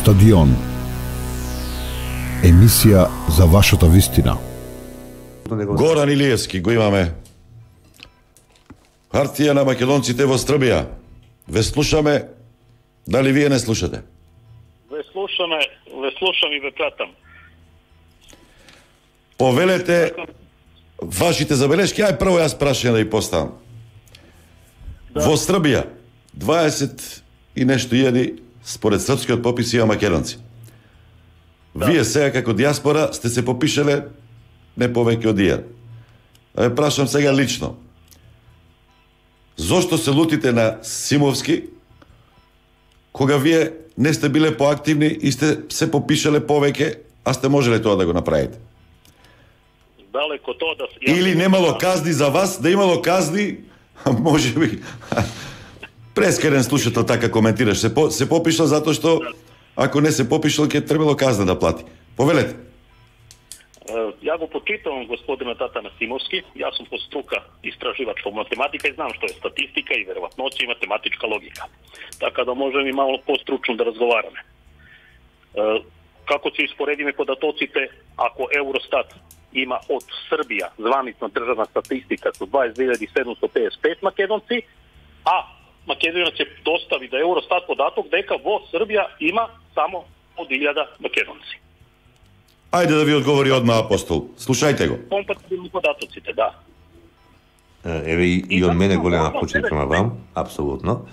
Стадион. Емисија за вашата вистина. Горан Илиевски го имаме. Хартија на македонците во Србија. Ве слушаме, дали вие не слушате? Ве слушам и ве пратам. Повелете вашите забелешки, ај прво јас прашање да ја поставам. Да. Во Србија 20 и нешто илјади според српскиот попис има македонци. Да. Вие сега како диаспора сте се попишале не повеќе од 1000. Ве прашам сега лично. Зошто се лутите на Симовски кога вие не сте биле поактивни и сте се попишале повеќе, а сте можеле тоа да го направите? Далеко тоа да... Или немало казни за вас, да имало казни, може би... Прескерен слушател така коментираш. Се попишал затоа што ако не се попишал, ќе требало казна да плати. Повелете. Ја го почитам господина Тата Насимовски. Јас сум по струка истраживач по математика и знам што е статистика и веројатноќа и математичка логика. Така да можем и мало постручно да разговараме. Како ќе испоредиме податоците ако Евростат има од Србија званична државна статистика со 22.755 македонци, а Македонија ќе достави да Евростат податок дека во Србија има само од 1000 македонци. Ајде да ви одговори одма Апостол. Слушајте го. Компатибилни податоците, да. Еве и од мене голема почит према вам, апсолутно.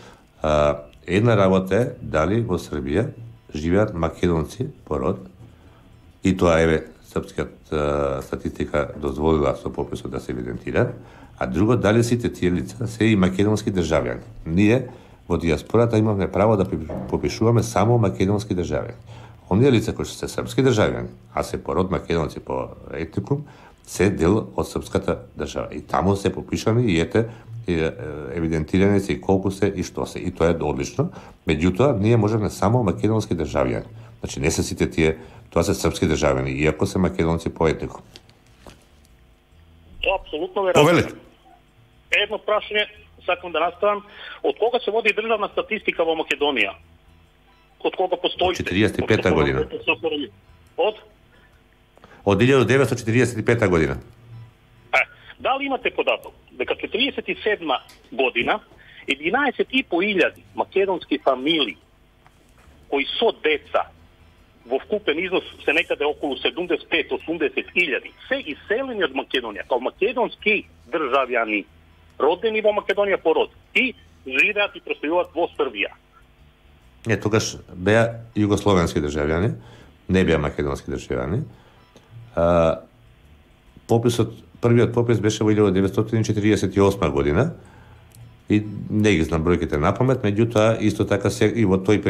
Една работа е дали во Србија живеат македонци по род, и тоа еве српскиот статистика дозволила со пописот да се евидентира, а друго дали сите тие лица се и македонски државјани. Ние во диаспората имаме право да попишуваме само македонски државјани. Оние лица кои се српски државјани, а се по род македонци по етникум, се дел од српската држава. И таму се попишани и ете евидентирани се и колку се и што се. И тоа е одлично. Меѓутоа, ние можеме само македонски државјани. Значи не се сите тие, тоа се српски државјани, иако се македонци по етникум. Тоа апсолутно веројатно. Повелете. Едно прашање, сакам да наставам, од кога се води државна статистика во Македонија? Од кога постои? 45 година. Од 1945 година. Дали имате податок дека 47 година 11.500 македонски фамилии кои со деца во вкупен износ се некаде околу 75-80 илјади се иселени од Македонија као македонски државјани родени во Македонија по род и живеат и престојуваат во Србија. Не, тогаш беа југословенски државјани, не беа македонски државјани. Првиот попис беше во 1948 година и не ги знам бројките напамет, меѓутоа исто така и во тој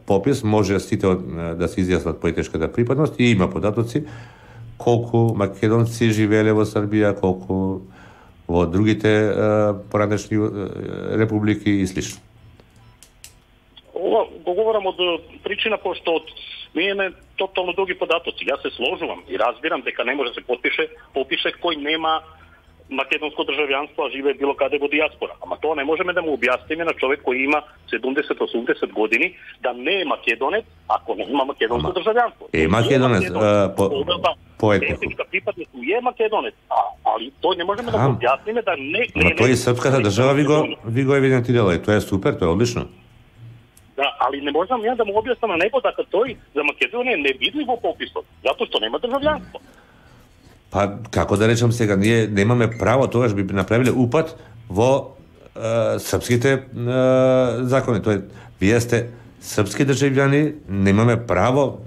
попис може сите да се изјаснат по етничката припадност и има податоци колку македонци живееле во Србија, колку во другите поранешни републики и слично. Ова го говорам од причина пошто ние имаме тотално други податоци. Јас се сложувам и разбирам дека не може да се попише кој нема македонско државјанство, а живее било каде во диаспора. Ама тоа не можеме да му објасниме на човек кој има 70-80 години да не е македонец, ако не има македонско државјанство. Е македонец по етнику. Припадност е македонец, али тој не можеме да му објасниме да не. Ама тој српската држава ви го евидентирала и тоа е супер, тоа е одлично. Да, али не можам ја да му објаснам на него дека тој за Македонија не види во пописот, затоа што нема државјанство. Па, како да речам сега, ние немаме право, тогаш би направиле упад во српските закони. Тоа е, вие сте српски државјани, немаме право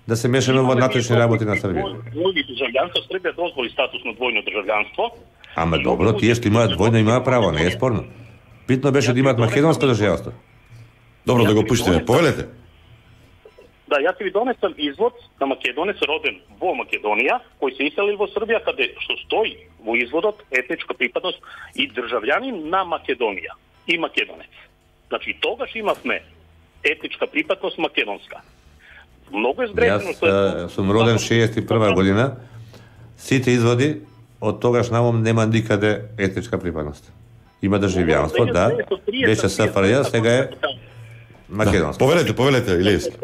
да се мешаме во внатрешни работи на Србија. Двојни државјанство, Србија дозволи статус на двојно државјанство. Ама добро, тие што имаат двојно имаат право, не е спорно. Битно беше да имаат македонско државјанство. Добро, да го пуштиме. Повелете. Да, јас ќе ви донесам извод на македонец роден во Македонија, кој се иселил во Србија, каде што стои во изводот етничка припадност и државјанин на Македонија и македонец. Значи, тогаш имавме етничка припадност македонска. Многу е сбрежено. Јас сум роден 61 година. Сите изводи од тогаш навом нема никаде етничка припадност. Има државјанство, да. Беше СФРЈ, сега е македонски. Повелете, Илиевски.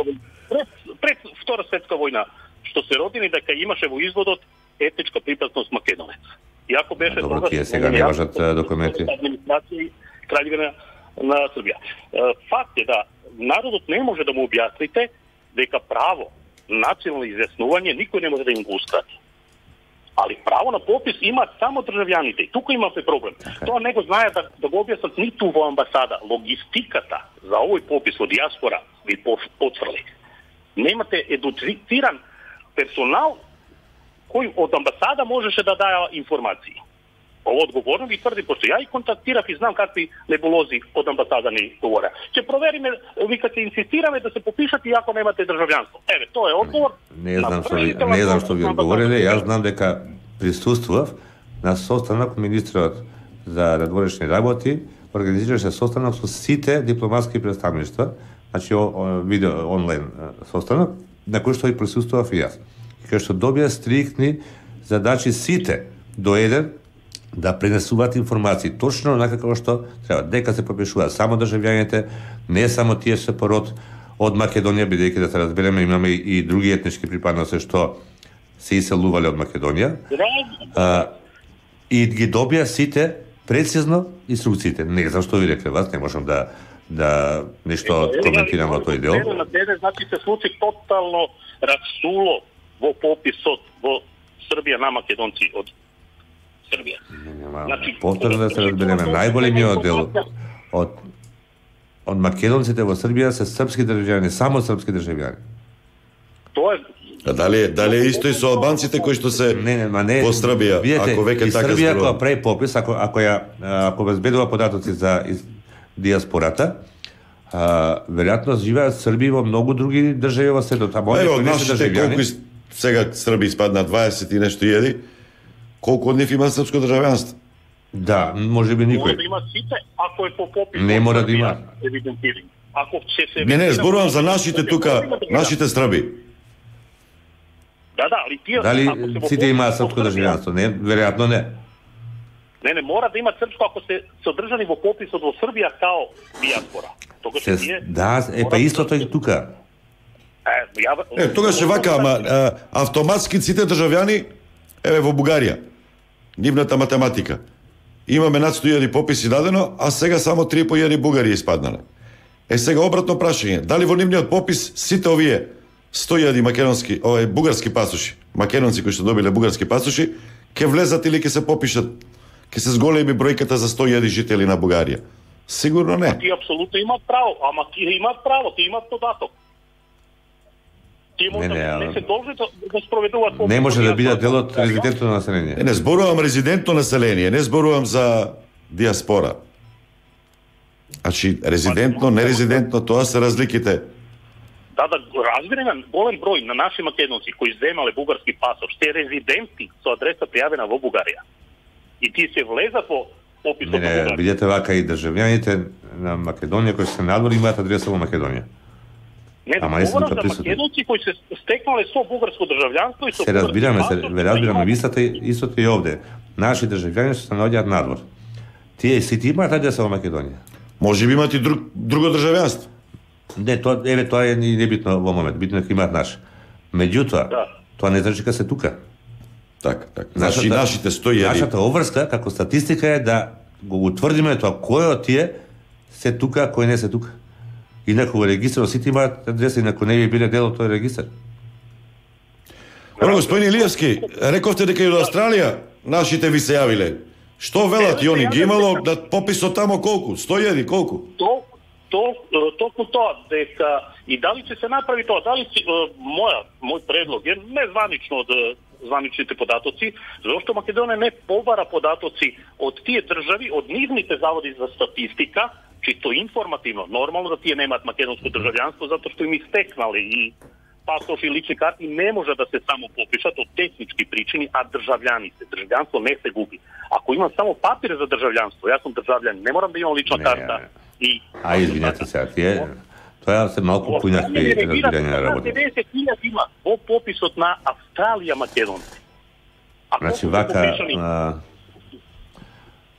Пред Втора светска војна, што се родени дека имаше во изводот етничка припасност македонец. Иако беше Добро, тие сега не важат документи. Администрација краљевина на Србија. Факт е да народот не може да му објасните дека право национално изјаснување никој не може да им го ускрати. Али право на попис имаат само државјаните. И тука имаме проблем. Тоа не го знаат да го објаснат ниту во амбасада. Логистиката за овој попис во диаспора ви потврди. Немате едуциран персонал кој од амбасада можеше да даја информации. Ово одговорно ви тврди, пошто ја и контактирав и знам какви небулози од амбасада ни говореа. Ќе провериме, вика ќе инсистираме да се попишат и ако немате државјанство. Еве, тоа е одговор. Не знам што ви одговориле, јас знам дека присуствував на состанок министрот за надворешни работи, организираше состанок со сите дипломатски претставништва, значи видео онлайн состанок, на кој што и присуствував и јас. Кај што добија стриктни задачи сите до еден да пренесуваат информации точно онака како што треба, дека се попишуваат само државјаните, не само тие се пород од Македонија, бидејќи да се разбереме имаме и други етнички припадности што се иселувале од Македонија. И ги добија сите прецизно инструкциите. Не знам што ви рекле вас, не можам да нешто коментирам во тој дел. Значи се случи тотално расуло во пописот во Србија на македонци од Србија. Повторно да се разбереме, најголемиот дел од македонците во Србија се српски државјани, само српски државјани. Тоа е Дали е исто и со албанците кои што се во Србија, ако веќе така Србија ако прави попис, ако безбедува податоци за диаспората, веројатно живеат Срби во многу други држави во светот. Ево, нашите колку сега Срби испадна 20 и нешто илјади, колку од нив има српско државјанство? Да, можеби никој. Мора да има сите, ако е по попис. Не мора да има. Ако се Не, зборувам за нашите тука, нашите Срби. Да, али тие дали сите имаат српско државјанство? Не, веројатно не. Не, мора да имаат српско ако се содржани во пописот во Србија као диаспора. Тогаш тие па истото е тука. Тогаш е вака, ама автоматски сите државјани еве во Бугарија. Нивната математика. Имаме над 100.000 пописи дадено, а сега само 3.500 бугари испаднале. Сега обратно прашање, дали во нивниот попис сите овие 100.000 македонски, бугарски пасоши, македонци кои што добиле бугарски пасоши, ќе влезат или ќе се попишат, ќе се зголеми бројката за 100.000 жители на Бугарија? Сигурно не. Тие апсолутно имаат право, ама тие имаат право, тие имаат податок. Тие може не се должи да спроведуваат попис. Не може да бидат дел од резидентно население. Не зборувам резидентно население, не зборувам за диаспора. Значи, резидентно, нерезидентно, тоа се разликите. Да, разбираме, голем број на наши македонци кои земале бугарски пасош, се резиденти со адреса пријавена во Бугарија. И тие се влезат во пописот на Бугарија. Не, видете вака и државјаните на Македонија кои се надвор имаат адреса во Македонија. Не, говорам за македонци кои се стекнале со бугарско државјанство и со разбираме, истото и овде. Наши државјани се наоѓаат надвор. Тие сите имаат адреса во Македонија. Може би имаат и друго државјанство. Не, тоа е небитно во момент, битно е имаат наш. Меѓутоа, тоа не значи дека се тука. Така. Значи нашите 100.000. Нашата обврска како статистика е да го утврдиме тоа кој од тие се тука, кој не се тука. Инаку во регистарот сите имаат адреса, инаку не би биле дел од тој регистар. Господин Илиевски, рековте дека и од Австралија нашите ви се јавиле. Што велат и они ги имало да пописот тамо колку? 100.000 колку? Токму тоа, дека и дали ќе се направи тоа, дали мој предлог е незванично од званичните податоци, зашто Македонија не побара податоци од тие држави, од нивните заводи за статистика, чисто информативно. Нормално да тие немаат македонско државјанство, затоа што им истекнале и пасош и лични карти не може да се само попишат од технички причини, а државјаните. Државјанство не се губи. Ако имам само папир за државјанство, јас сум државјанин, не морам да имам лична карта. Извинете се, тоа се малку поинакви разбирање на работа. 90.000 има во пописот на Австралија македонци. Значи вака,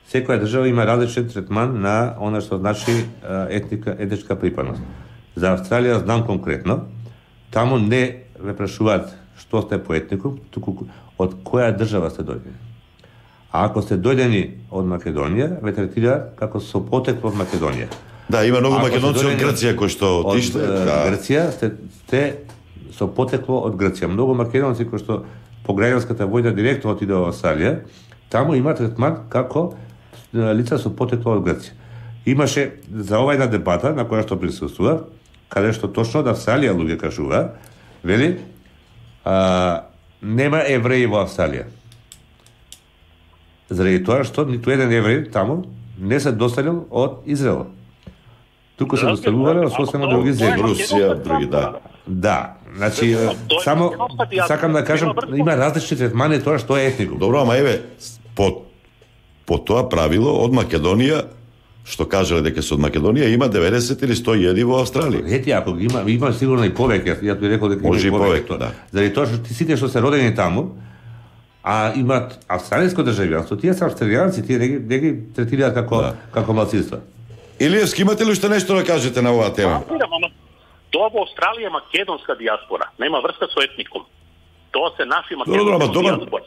секоја држава има различен третман на она што значи етничка припадност. За Австралија знам конкретно, таму не ве прашуваат што сте по етникум, туку од која држава сте дојдени. А ако сте дојдени од Македонија, ве третираат како со потекло од Македонија. Да, има многу македонци од Грција кои што отишле. Грција сте со потекло од Грција. Многу македонци кои што по граѓанската војна директно отидоа во Австралија, таму има третман како лица со потекло од Грција. Имаше за ова една дебата на која што присуствува, каде што точно од Австралија луѓе кажува, вели, нема евреи во Австралија. Заради тоа што ниту еден евреј таму не се доселил од Израел. Туку се доселувале од сосема други земји. Русија, други, да. Да, значи, само сакам да кажам, има различни третмани тоа што е етникум. Добро, ама еве, по тоа правило од Македонија, што кажале дека се од Македонија, има 90 или 100.000 во Австралија. Ети, ако има сигурно и повеќе, ја ти рекол дека може и повеќе, да. Заради тоа што сите што се родени таму, а имаат австралиско државјанство, тие се австралијанци, тие не ги третираат како малцинства. Илиевски, имате ли уште нешто да кажете на оваа тема? Тоа во Австралија е македонска диаспора, нема врска со етникум. Тоа се наши македонски диаспора.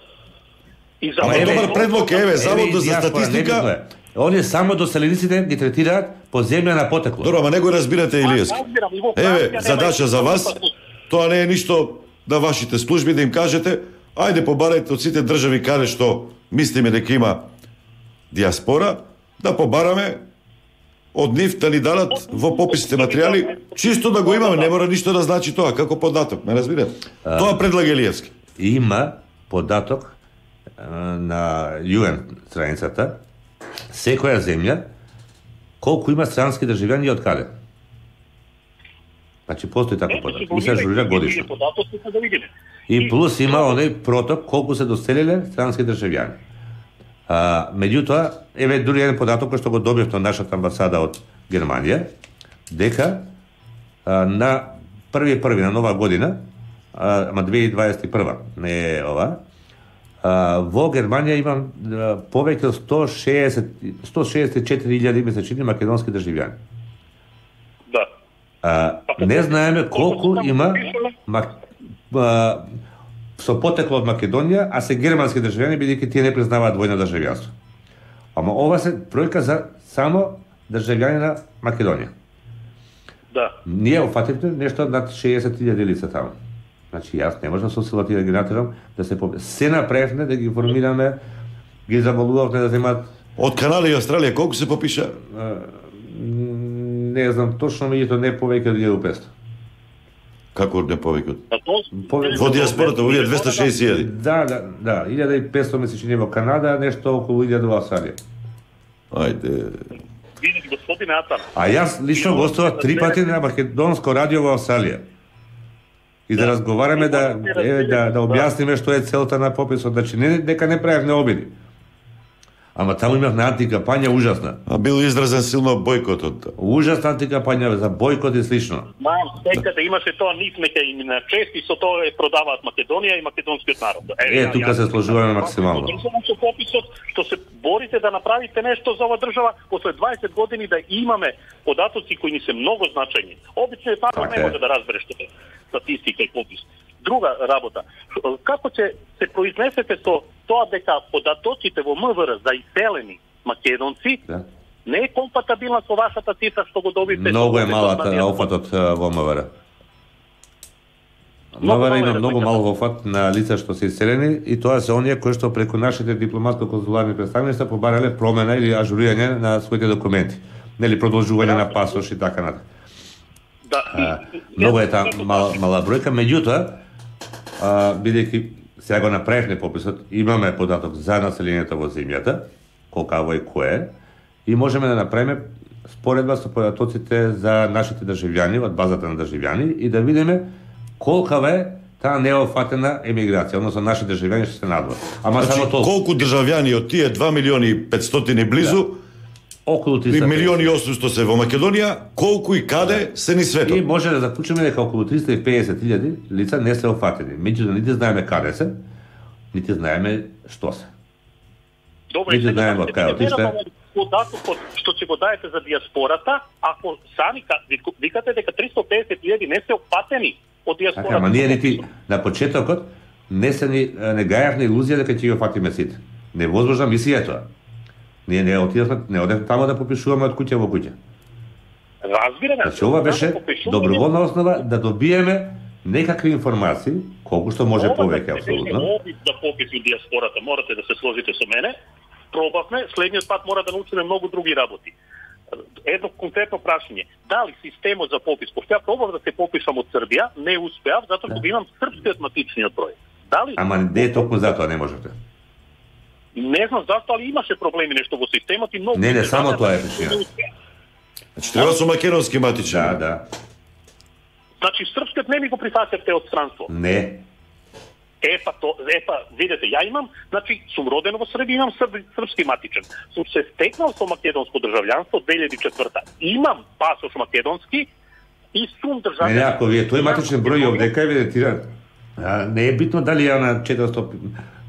Добар предлог еве, Заводот за статистика. Оние само доселениците ги третираат по земја на потекло. Добро, ама не го разбирате, Илиевски. Еве, задача за вас, тоа не е ништо да вашите служби да им кажете, ајде побарајте од сите држави каде што мислиме дека има диаспора, да побараме од нив да ни дадат во пописите материјали, чисто да го имаме, не мора ништо да значи тоа, како податок, ме разбирате? Тоа предлага Илиевски. Има податок на UN страницата, секоја земја, колку има странски државјани и од каде. Значи, постои таков податок. И се ажурира годишно. И плюс има оној проток колку се доселиле странски државјани. Меѓутоа, еве дури еден податок кој што го добивте од нашата амбасада од Германија, дека на 1.1. на нова година, ама 2021, не е ова, во Германија има повеќе од 164.000 месечни македонски државјани. Да. Не знаеме колку има со потекло од Македонија, а се германски државјани, бидејќи тие не признаваат двојно државјанство. Ама ова се бројка за само државјани на Македонија. Да. Ние офативме нешто над 60.000 лица таму. Значи, јас не можам со силата да ги натерам да се направивме, да ги формираме, ги замолувавме да земат... Од Канада и Австралија колку се попиша? Не знам точно, меѓуто не повеќе од 1500. Како не повеќе од? Во диаспората, овие 260.000. Да, 1500 месечни во Канада, нешто околу 1000 во Австралија. Ајде. Видите, господине Атан. А јас лично гостував 3 пати на македонско радио во Австралија. И да разговараме, да објасниме што е целта на пописот, значи дека не правевме обиди. Ама таму имавме антикапања ужасна. А бил изразен силно бојкотот. Ужасна антикапања за бојкот и слично. Секаде имаше тоа нив нека им на чести со тоа продаваат Македонија и македонскиот народ. Тука се сложуваме максимално. Со пописот што се борите да направите нешто за оваа држава, после 20 години да имаме податоци кои ни се многу значајни. Обично така не може да разбереш што е статистика и попис. Друга работа, како ќе се произнесете со тоа дека податоците во МВР за иселени македонци не е компатабилна со вашата цифра што го добивте? Многу е малата офатот во МВР. МВР има многу мал офат на лица што се иселени и тоа се оние кои што преку нашите дипломатско-консуларни представништва побарале промена или ажурирање на своите документи, нели продолжување на пасош и така натаму. Многу е таа мала бројка, меѓутоа бидејќи сега го направивме пописот, имаме податок за населението во земјата, колкаво и кое, и можеме да направиме споредба со податоците за нашите државјани, од базата на државјани, и да видиме колкава е таа неофатена емиграција, односно наши државјани што се надвор. Ама само толку. Колку државјани од тие 2.500.000 близу, околу 300 милиони 800 се во Македонија, колку и каде се ни светот. И може да заклучиме дека околу 350.000 лица не се офатени. Меѓутоа нити знаеме каде се, нити знаеме што се. Добре, нити знаеме од кај отишле. податокот што ќе го даете за диаспората, ако сами викате дека 350.000 не се опатени од диаспората. Ама ние нити на почетокот не гајавме илузија дека ќе го фатиме сите. Невозможна мисија е тоа. Ние не одевме таму да попишуваме од куќа во куќа. Разбираме. Значи ова беше доброволна основа да добиеме некакви информации, колку што може повеќе апсолутно. Да пописи диаспората, морате да се сложите со мене. Пробавме, следниот пат мора да научиме многу други работи. Едно конкретно прашање. Дали системот за попис, пошто ја пробав да се попишам од Србија, не успеав затоа што имам српскиот матичниот број. Дали? Ама не е токму затоа не можете. Не знам зашто, али имаше проблеми нешто во системот и многу. Не, само тоа е причина. Значи треба со македонски матичен. Да. Значи српскиот не ми го прифатевте од странство. Не. Видете, ја имам, значи сум роден во Србија, имам српски матичен. Сум се стекнал со македонско државјанство 2004. Имам пасош македонски и сум државјанин. Не, ако ви е тој матичен број овдека евидентиран, не е битно дали ја на 400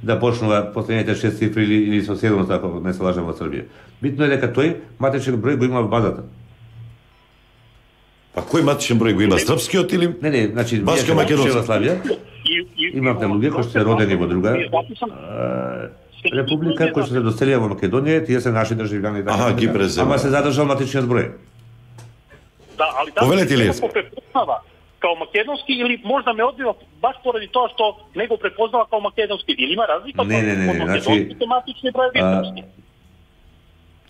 да почнува последните 6 цифри или со 700, ако не се лажам во Србија. Битно е дека тој матичен број го има во базата. А кој матичен број го има? Српскиот или? Не, значи Башка македонска. Имавте луѓе кои се родени во друга република, кои се доселија во Македонија, тие се наши државјани. Ги презема. Ама се задржал матичниот број. Да, али Повелете ли препознава као македонски или можда ме одбива баш поради тоа што не го препознава као македонски. Или има разлика Не, значи матични броеви?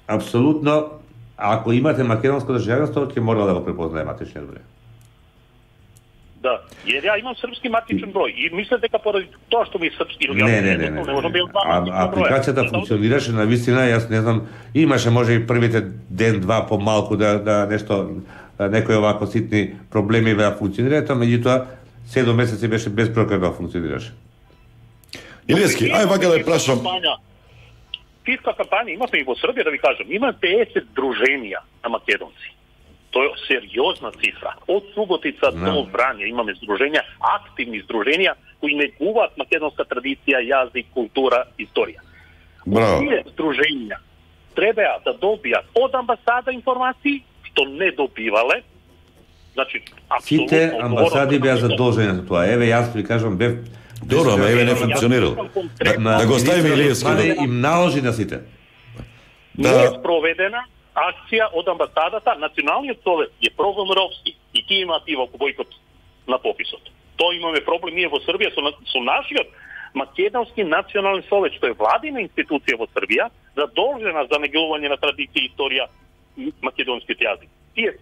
Апсолутно, ако имате македонско државјанство, ќе мора да го препознае матичниот број. Да, jer ја имам српски матичен број и мислам дека поради тоа што ми е српски или не можам да апликацијата функционираше на вистина, јас не знам, имаше може и првите ден-два помалку да нешто некои овако ситни проблеми да функционираат, меѓутоа 7 месеци беше безпрокрадно да функционираше. Илиевски, ај вака да ја прашам. Фиска кампања имавме и во Србија, да ви кажам, има 50 друженија на македонци. Тоа е сериозна цифра. Од Суботица до Врање имаме здруженја, активни здруженја кои негуваат македонска традиција, јазик, култура, историја. Тие здруженја треба да добијат од амбасада информации, што не добивале. Значи, апсолутно сите амбасади беа задолжени за тоа. Еве јас ви кажам бев добро, ама еве не функционирал. Да го ставиме Илиевски. Им наложи на сите. Не е спроведена акција од амбасадата, Националниот совет е програмировски и тие имаат и во бојкот на пописот. Тоа имаме проблем ние во Србија со нашиот Македонски национален совет, што е владина институција во Србија, задолжена за негување на традиција и историја македонскиот јазик. Тие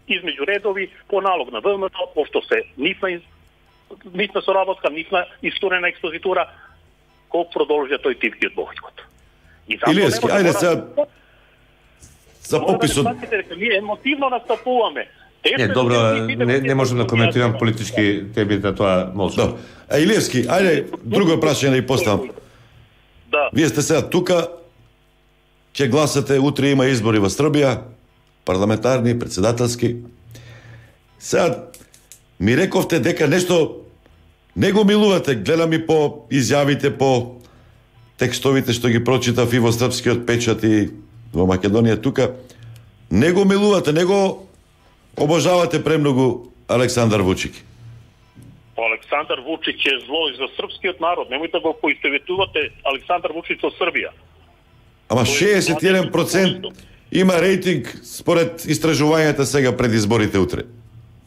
измеѓу редови по налог на ВМРО, пошто се нифна соработка, нифна исторена експозитура, колку продолжија тој типкиот бојкот. Илиевски, ајде сега за пописот. Ние емотивно настапуваме. Не, добро, не можам да коментирам политички теми, да тоа молчам. Илиевски, ајде друго прашање да ја поставам. Да. Вие сте сега тука, ќе гласате, утре има избори во Србија, парламентарни, председателски. Сега ми рековте дека нешто не го милувате, гледам и по изјавите, по текстовите што ги прочитав и во српскиот печат и во Македонија тука, не го милувате, не го обожавате премногу Александар Вучик. Александар Вучич е зло и за српскиот народ. Немојте да го поистоветувате Александар Вучич со Србија. Ама 61% има рейтинг според истражувањата сега пред изборите утре.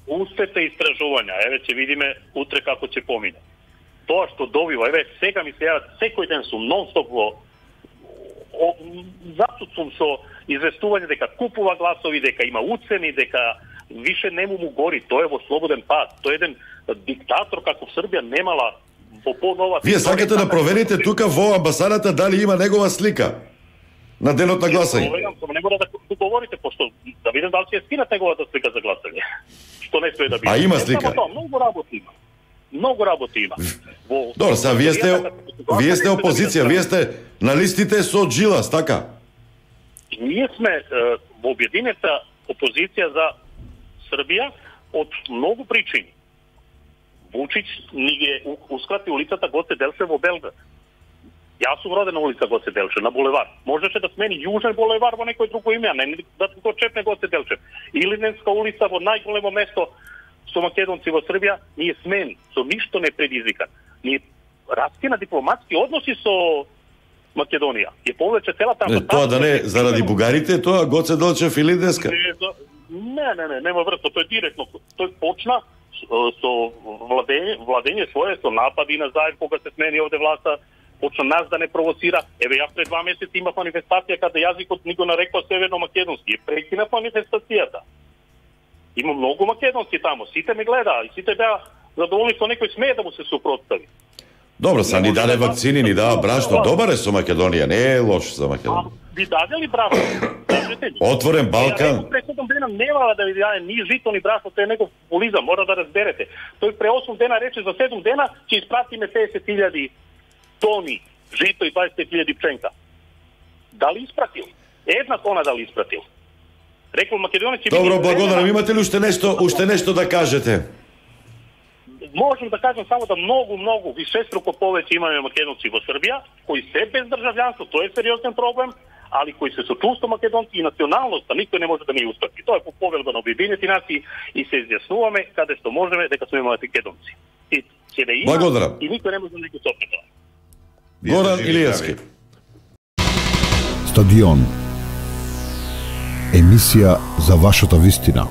Устете истражувања, еве ќе видиме утре како ќе помине. Тоа што добива, еве сега ми се јават, секој ден сум нон-стоп во затоа сум со известување дека купува гласови, дека има уцени, дека више не му гори, тоа е во слободен пат. Тој е еден диктатор како в Србија немала во понова. Вие сакате да проверите тука во амбасадата дали има негова слика на денот на гласање? Не мора да говорите, пошто да видам дали ќе скинат неговата слика за гласање. Што не стои да биде. А има слика? Многу работи има. Многу работи има. Добро, сега вие сте опозиција, вие сте на листите со Джилас, така? Ние сме во објединета опозиција за Србија од многу причини. Вучич ни ги ускрати улицата Гоце Делчев во Белград. Јас сум роден на улица Гоце Делчев, на булевар. Можеше да смени Јужен булевар во некој друго име, а не да го чепне Гоце Делчев. Илинденска улица во најголемо место со македонци во Србија, ние смен, со ништо не предизвикан. Ние раскина дипломатски односи со Македонија. И повеќе целата Тоа да не заради бугарите, тоа Гоце Делчев или Илинденска? Не, нема врска, тој директно, тој почна со владење свое, со напади на Заев, кога се смени овде власта, почна нас да не провоцира. Еве, јас пред 2 месеци имав манифестација каде јазикот ни го нарекува северно-македонски. Прекинав манифестацијата. Има многу македонци тамо, сите ме гледаа и сите беа задоволни со некој смее да му се супротстави. Добро, са ни даде вакцини, ни дава брашно. Добар е со Македонија, не е лош за Македонија. Ви даде ли брашно? Кажете ми. Отворен Балкан. Пред 7 дена нема да ви даде ни жито, ни брашно, тоа е негов популизам, мора да разберете. Тој пре 8 дена рече за 7 дена ќе испратиме 50.000 тони жито и 20.000 пченка. Дали испратил? Една тона дали испратил? Рекол Македонија ќе... Добро, благодарам. Имате ли уште нешто да кажете? Можем да кажем само да многу вишеструко повеќе имаме македонци во Србија, кои се без државјанство, тоа е сериозен проблем, али кои се со чувство македонци и националноста, никој не може да ни устапи. Тоа е по повелба на Обединените нации и се изјаснуваме каде што можеме дека сме македонци. И ќе да има и никој не може да ни го стопне тоа. Горан Илиевски. Стадион. Емисија за вашата вистина.